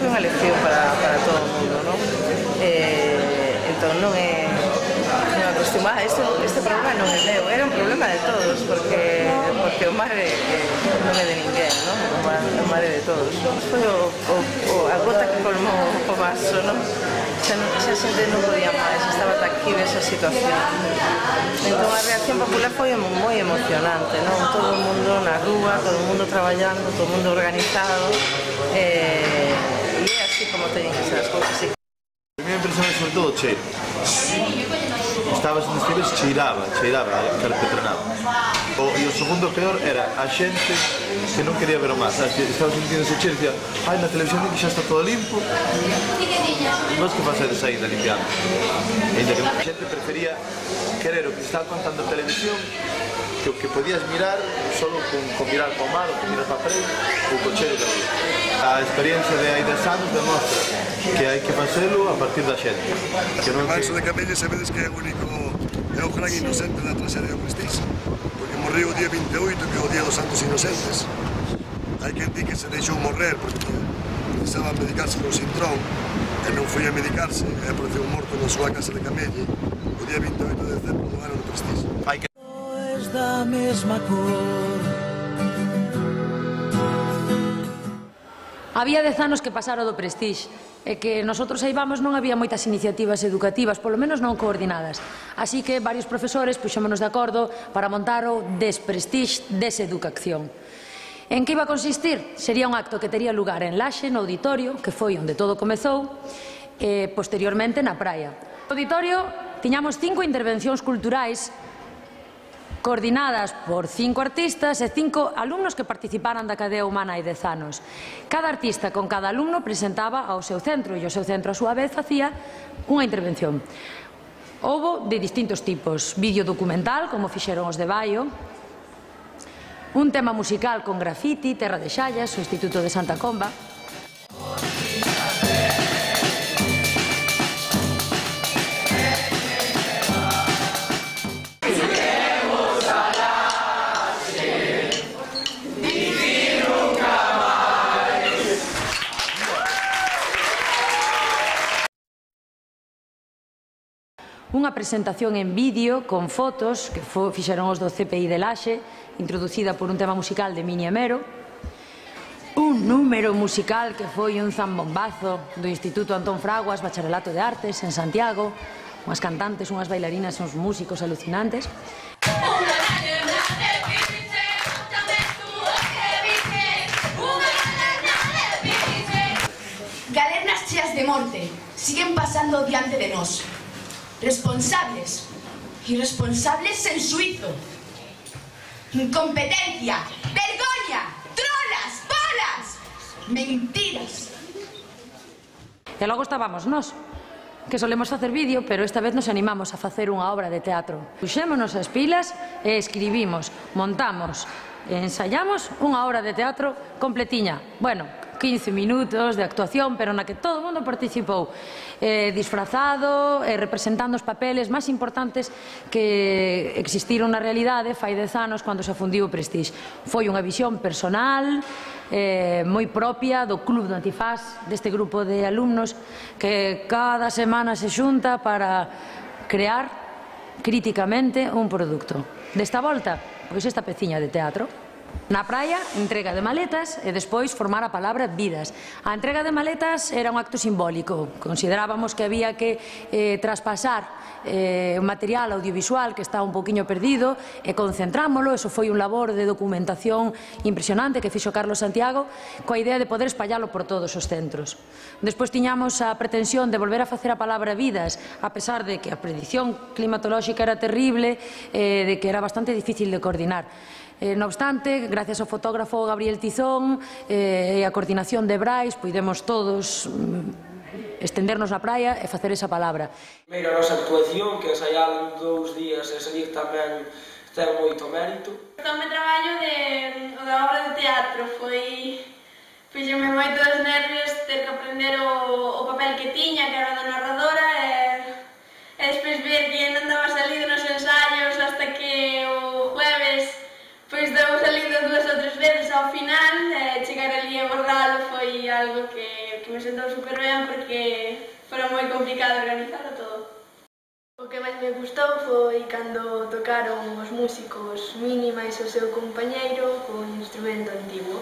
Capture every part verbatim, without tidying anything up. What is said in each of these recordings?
foi unha lección para, para todo o mundo, non? Eh, entón non é non é cuestión, ah, este, este problema non é meu, era un problema de todos, porque, porque o mar é, non é de ninguén, non? O mar, o mar é de todos. Foi o, o, o, a gota que colmou o vaso, non? Xa, xa a xente non podía máis, estaba taquiva esa situación. Entón a reacción popular foi moi emocionante, non? Todo o mundo na rúa, todo o mundo traballando, todo o mundo organizado, eh, e é así como teñen que ser as cousas. A miña impresión é sobre todo o cheiro. Estabas nos filmes, cheiraba, cheiraba, carpetronaba. O, e o segundo peor era a xente que non quería ver o mar, sabes, que estaba sentindo ese cheiro e dicía, ai, na televisión que xa está todo limpo. Vos que facedes aí da limpiando? E ainda que a xente prefería querer o que estaba contando a televisión que o que podías mirar solo con, con mirar para o mar ou con mirar para a frente ou co cheiro da vida. A experiencia de hai dez anos demostra que hai que facelo a partir da xente. O Manso de Camelle sabedes que é o único, é o gran inocente da traxedia do Prestige, porque morreu o día vinte e oito, que é o día dos Santos Inocentes. Hai quen di que se deixou morrer porque precisaba medicarse con sintrón e non foi a medicarse e apareceu morto na súa casa de Camelle o día vinte e oito de decembro do ano do Prestige. Da mesma cor. Había dez anos que pasara do Prestige e que nosotros aí vamos non había moitas iniciativas educativas, polo menos non coordinadas. Así que varios profesores puxémonos de acordo para montar o Desprestige Deseducación. En que iba a consistir? Sería un acto que tería lugar en Laxe, no auditorio, que foi onde todo comezou, e posteriormente na praia. No auditorio tiñamos cinco intervencións culturais coordinadas por cinco artistas e cinco alumnos que participaran da cadea humana hai dez anos. Cada artista con cada alumno presentaba ao seu centro e o seu centro a súa vez facía unha intervención. Houbo de distintos tipos, vídeo documental, como fixeron os de Baio, un tema musical con grafiti, Terra de Xallas, o Instituto de Santa Comba, unha presentación en vídeo con fotos que fixeron os do C P I de Laxe, introducida por un tema musical de Mini Amero, un número musical que foi un zambombazo do Instituto Antón Fraguas, Bacharelato de Artes, en Santiago, unhas cantantes, unhas bailarinas, uns músicos alucinantes. Galernas cheas de morte siguen pasando diante de nós. Responsables, irresponsables sen suizo. Incompetencia, vergoña, trolas, bolas, mentiras. E logo estábamos nós, que solemos facer vídeo, pero esta vez nos animamos a facer unha obra de teatro. Puxémonos as pilas e escribimos, montamos e ensaiamos unha obra de teatro completiña. Bueno, quince minutos de actuación, pero na que todo o mundo participou, eh, disfrazado, eh, representando os papeles máis importantes que existiron na realidade fai dez anos cando se afundiu o Prestige. Foi unha visión personal, eh, moi propia do Club do Antifaz, deste grupo de alumnos que cada semana se xunta para crear críticamente un produto. Desta volta, pois esta peciña de teatro. Na praia, entrega de maletas e despois formar a palabra vidas. A entrega de maletas era un acto simbólico. Considerábamos que había que eh, traspasar eh, un material audiovisual que estaba un poquinho perdido e concentrámolo. Eso foi un labor de documentación impresionante que fixo Carlos Santiago coa idea de poder espallalo por todos os centros. Despois tiñamos a pretensión de volver a facer a palabra vidas, a pesar de que a predición climatolóxica era terrible, eh, de que era bastante difícil de coordinar. Eh, non obstante, gracias ao fotógrafo Gabriel Tizón eh, e a coordinación de Brais, puidemos todos mm, estendernos na praia e facer esa palabra. Primeiro a nosa actuación, que ensaiaron dous días e salir tamén ten moito mérito. O meu traballo de, da obra de teatro foi... fixeme moitos nervios ter que aprender o, o papel que tiña, que era da narradora, e, e despois ver que non daba salido nos ensaios hasta que o jueves pois deu salido dúas ou tres veces ao final, e chegar ali e borralo foi algo que, que me sentou super ben porque fora moi complicado organizarlo todo. O que máis me gustou foi cando tocaron os músicos Mínima e o seu compañeiro con instrumento antigo.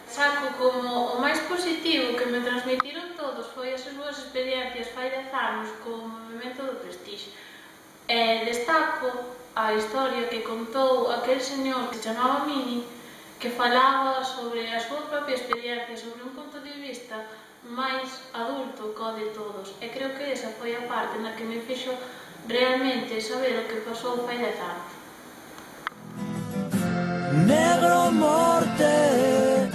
Saco como o máis positivo que me transmitiron todos foi as súas experiencias fai dez anos co movimento do Prestige. E destaco a historia que contou aquel señor que se chamaba Mini, que falaba sobre a súa propia experiencia, sobre un punto de vista máis adulto co de todos. E creo que esa foi a parte na que me fixo realmente saber o que pasou fai dez anos. Negro morte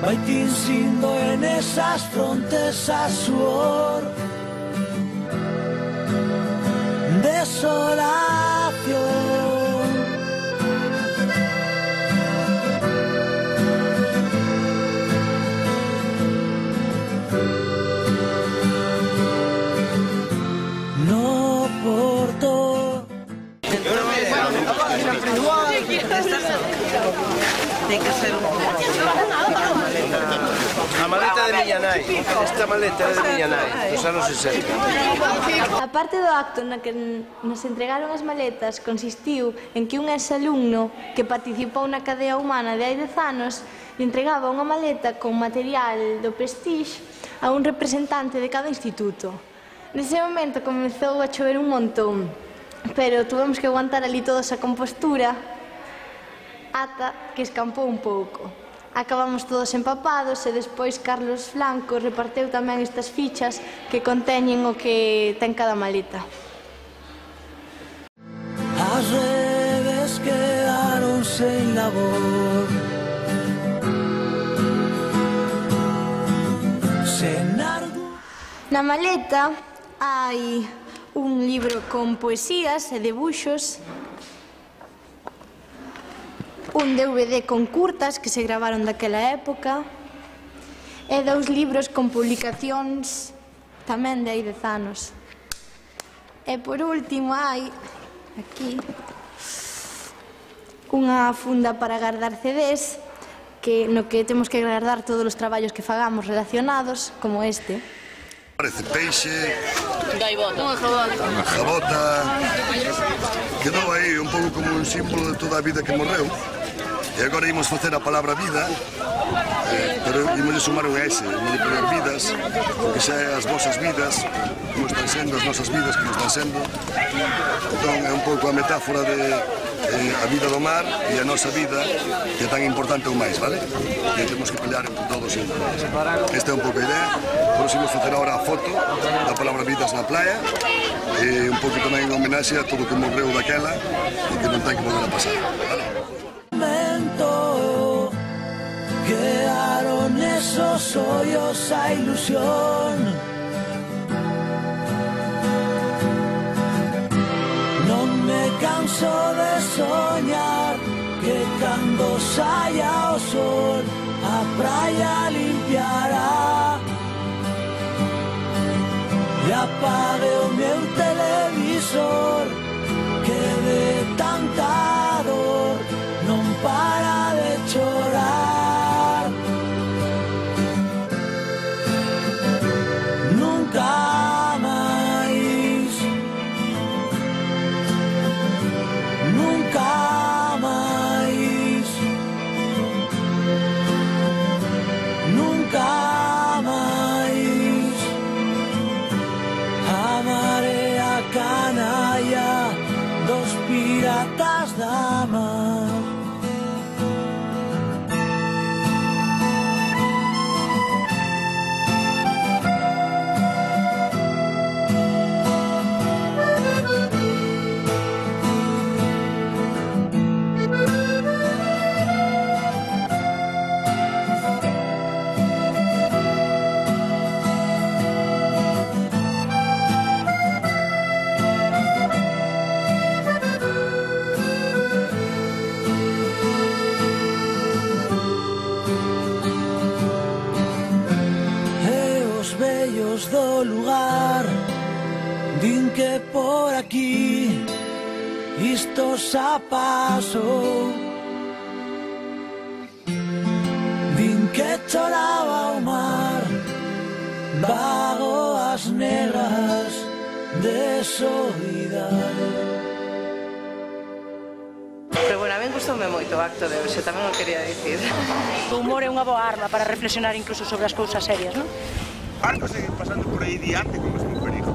vai tinsindo en esas frontes a suor, desolación. No porto. Ten que ser un... A maleta de miña nai, esta maleta é de miña nai, dos anos sesenta. A parte do acto na que nos entregaron as maletas consistiu en que un exalumno que participou na cadea humana de hai dez anos le entregaba unha maleta con material do Prestige a un representante de cada instituto. Nese momento comezou a chover un montón, pero tuvemos que aguantar ali toda esa compostura ata que escampou un pouco. Acabamos todos empapados e despois Carlos Blanco reparteu tamén estas fichas que conteñen o que ten cada maleta. As redes quedaron sen labor, sen algo. Na maleta hai un libro con poesías e debuxos, un D V D con curtas que se gravaron daquela época e dous libros con publicacións tamén de hai dez anos. E por último hai aquí unha funda para guardar C Ds que, no que temos que guardar todos os traballos que fagamos relacionados, como este. Parece peixe, gaivota, unha jabota, unha jabota. Quedou aí un pouco como un símbolo de toda a vida que morreu. E agora imos facer a palabra vida, eh, pero imos sumar un S, imos poner vidas, porque xa é as vosas vidas, como están sendo as nosas vidas, como están sendo. Entón é un pouco a metáfora de eh, a vida do mar e a nosa vida, que é tan importante ou máis, vale? Que temos que pelear entre todos e entre todos. Esta é un pouco a idea, por isso imos facer agora a foto da palabra vidas na playa, e un pouco tamén en homenaxe a todo o que morreu daquela e que non ten que volver a pasar, vale? Quedaron esos hoyos a ilusión. Non me canso de soñar que cando saia o sol a praia limpiará e apague o meu televisor que de tanta dor non para de chorar. Nunca máis, nunca máis, nunca máis. A marea canalla dos piratas da mar. Do lugar din que por aquí isto xa pasou, din que choraba o mar de soidade. Pero bueno, a mí gustoume moito o acto de hoxe, tamén o quería dicir. O humor é unha boa arma para reflexionar incluso sobre as cousas serias, non? Algo segue pasando por aí diante con o mesmo perigo.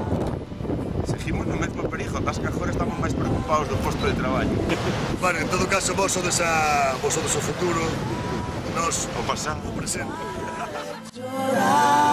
Seguimos no mesmo perigo, as que agora estamos máis preocupados do posto de traballo. Bueno, en todo caso, vos sodes, a, vos sodes o futuro, nos o pasado, o presente. Llorar